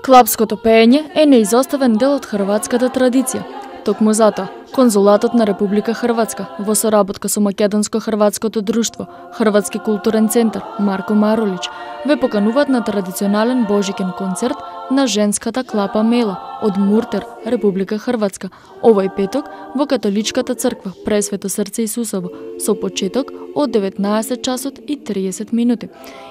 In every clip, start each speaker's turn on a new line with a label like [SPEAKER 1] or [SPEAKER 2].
[SPEAKER 1] Клапското пеење е неизоставен дел од хрватската традиција. Токму затоа, Конзулатот на Република Хрватска во соработка со Македонско-хрватското друштво, Хрватски културен центар Марко Маролич ве покануваат на традиционален божикен концерт на женската клапа Мела од Муртер, Република Хрватска, овој петок во Католичката црква Пресвето срце Исусово, со почеток од 19 часот и 30 минути.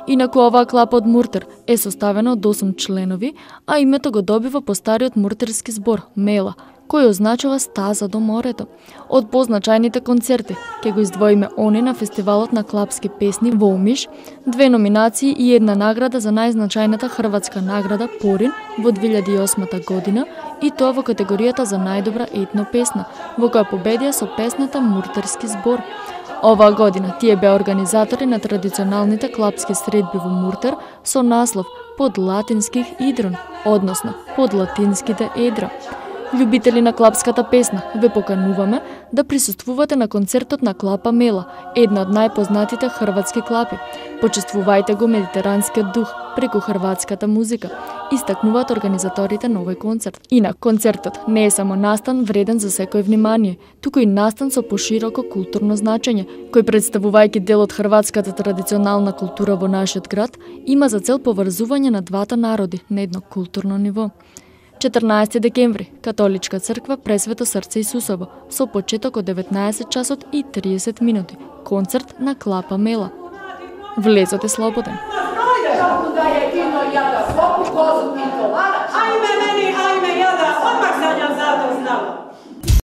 [SPEAKER 1] Инаку оваа клапа од Муртер е составена од 8 членови, а името го добива по стариот муртерски збор Мела, кој означава стаза до морето. Од позначајните концерти ќе го издвоиме они на фестивалот на клапски песни во Омиш, 2 номинации и 1 награда за најзначајната хрватска награда Порин во 2008 година, и тоа во категоријата за најдобра етно песна, во која победија со песната Муртерски збор. Оваа година тие беа организатори на традиционалните клапски средби во Муртер со наслов Под латинских идрон, односно Под латинските едра. Љубители на клапската песна, ве покануваме да присуствувате на концертот на клапа Мела, една од најпознатите хрватски клапи. Почествувајте го медитеранскиот дух преку хрватската музика, истакнуваат организаторите на овој концерт. Инак, концертот не е само настан вреден за секој внимание, туку и настан со пошироко културно значење, кој представувајќи дел од хрватската традиционална култура во нашиот град, има за цел поврзување на двата народи на едно културно ниво. 14 декември, Католичка црква Пресвето срце Исусово, со почеток од 19 часот и 30 минути. Концерт на клапа Мела. Влезот е слободен.